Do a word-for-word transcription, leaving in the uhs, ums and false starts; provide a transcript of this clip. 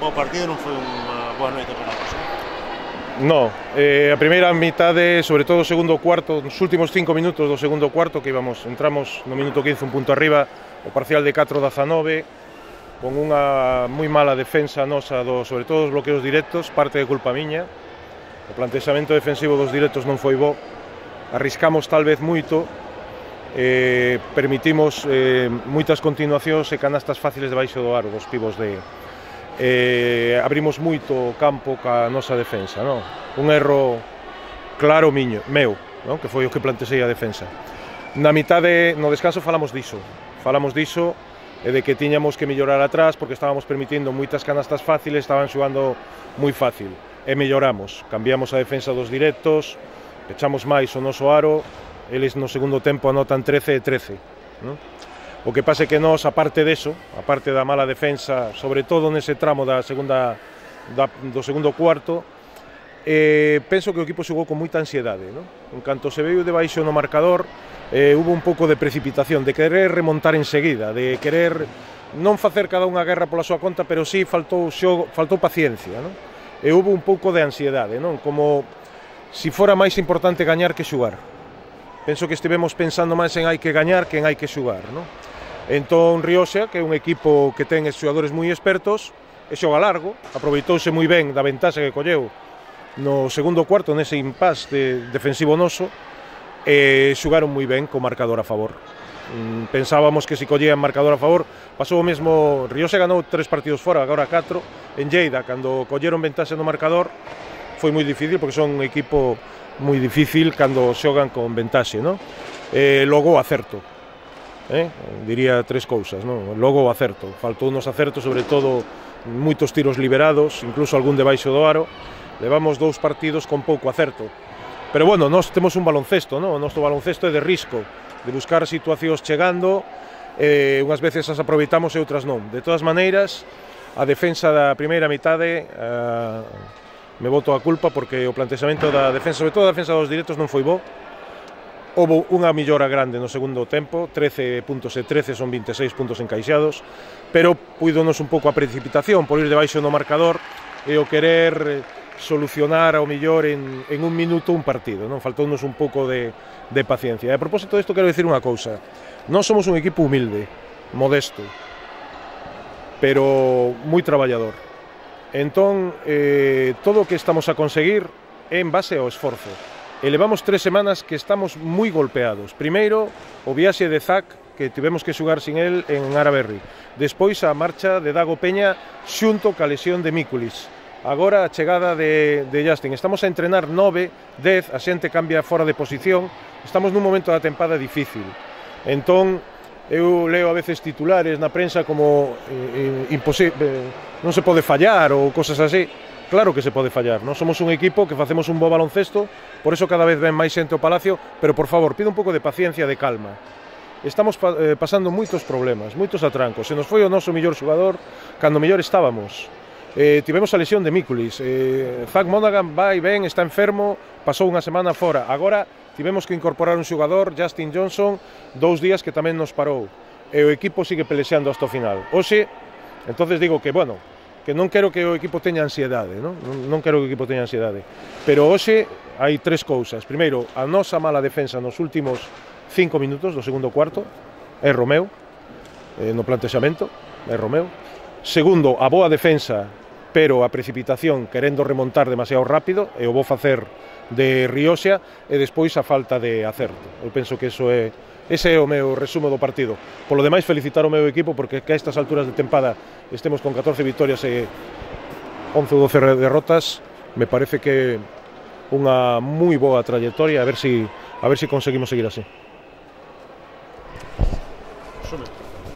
bo partido, non foi unha boa noite para nós. No, eh, a primeira mitade, sobre todo o segundo cuarto, nos últimos cinco minutos do segundo cuarto, que íbamos, entramos no minuto quince un punto arriba, o parcial de catro a dezanove, con unha moi mala defensa nosa, do, sobre todo os bloqueos directos, parte de culpa miña. O plantexamento defensivo dos directos non foi bo, arriscamos tal vez moito, eh, permitimos eh, moitas continuacións e canastas fáciles debaixo do aro dos pivos de... Eh, abrimos moito o campo ca nosa defensa, non? Un erro claro miño, meu, non? Que foi o que plantexei a defensa. Na mitade, no descanso falamos diso, falamos diso e de que tiñamos que mellorar atrás porque estábamos permitindo moitas canastas fáciles, estaban xogando moi fácil e melloramos, cambiamos a defensa dos directos, echamos máis o noso aro, eles no segundo tempo anotan trece e trece, non? O que pasa é que nós, aparte deso, aparte da mala defensa, sobre todo nese tramo da segunda, da, do segundo cuarto, eh, penso que o equipo xogou con moita ansiedade, non? En canto se veio debaixo no marcador, eh, hubo un pouco de precipitación, de querer remontar enseguida, de querer non facer cada unha guerra pola súa conta, pero sí faltou xogo, faltou paciencia, non? E hubo un pouco de ansiedade, non? Como si fora máis importante gañar que xugar. Penso que estivemos pensando máis en hai que gañar que en hai que xugar, non? Entón Rioxa, que é un equipo que ten xogadores moi expertos, e xoga largo, aproveitouse moi ben da ventaxa que colleu no segundo cuarto nese impás de defensivo noso, e xogaron moi ben co marcador a favor. Pensábamos que se collían marcador a favor, pasou o mesmo, Rioxa ganou tres partidos fora, agora catro, en Lleida, cando colleron ventaxa no marcador, foi moi difícil, porque son un equipo moi difícil cando xogan con ventaxe, non? E logo acerto. Eh? Diría tres cousas, non? Logo o acerto, faltou unos acertos, sobre todo moitos tiros liberados, incluso algún debaixo do aro. Levamos dous partidos con pouco acerto, pero bueno, nós temos un baloncesto, non? O noso baloncesto é de risco, de buscar situacións chegando, e unhas veces as aproveitamos e outras non. De todas maneiras, a defensa da primeira mitade uh, me boto a culpa porque o plantexamento da defensa, sobre todo a defensa dos directos, non foi bo. Houve unha millora grande no segundo tempo, trece puntos e trece, son vinte e seis puntos encaixados, pero puídonos un pouco a precipitación por ir debaixo no marcador e o querer solucionar ao millor en, en un minuto un partido, non? Faltounos un pouco de, de paciencia. E a propósito disto quero dicir unha cousa, non somos un equipo humilde, modesto, pero moi traballador. Entón, eh, todo o que estamos a conseguir é en base ao esforzo. E levamos tres semanas que estamos moi golpeados. Primeiro, o viaxe de Zach, que tivemos que xogar sin el en Araberri. Despois, a marcha de Dago Peña xunto ca lesión de Mikulis. Agora, a chegada de, de Justin. Estamos a entrenar nove, dez, a xente cambia fora de posición. Estamos nun momento da tempada difícil. Entón, eu leo a veces titulares na prensa como eh, imposible, non se pode fallar ou cosas así. Claro que se pode fallar, non? Somos un equipo que facemos un bo baloncesto, por eso cada vez ven máis xente ao Palacio, pero por favor, pido un pouco de paciencia, de calma. Estamos pa eh, pasando moitos problemas, moitos atrancos. Se nos foi o noso mellor xogador cando mellor estábamos. Eh, tivemos a lesión de Mikulis. Eh, Zach Monaghan vai ben, está enfermo, pasou unha semana fora. Agora tivemos que incorporar un xogador, Justin Johnson, dous días que tamén nos parou. E o equipo sigue pelexeando hasta o final. Oxe, entonces digo que, bueno, que non quero que o equipo teña ansiedade, non? Non quero que o equipo teña ansiedade. Pero hoxe hai tres cousas. Primeiro, a nosa mala defensa nos últimos cinco minutos do segundo cuarto, é Romeu, eh, no plantexamento, é Romeu. Segundo, a boa defensa, pero a precipitación querendo remontar demasiado rápido, e o bo facer de Rioxa, e despois a falta de acerto. Eu penso que eso é Ese é o meu resumo do partido. Polo demais, felicitar o meu equipo porque que a estas alturas de tempada estemos con catorce vitorias e once ou doce derrotas, me parece que unha moi boa trayectoria, a ver si a ver si conseguimos seguir así.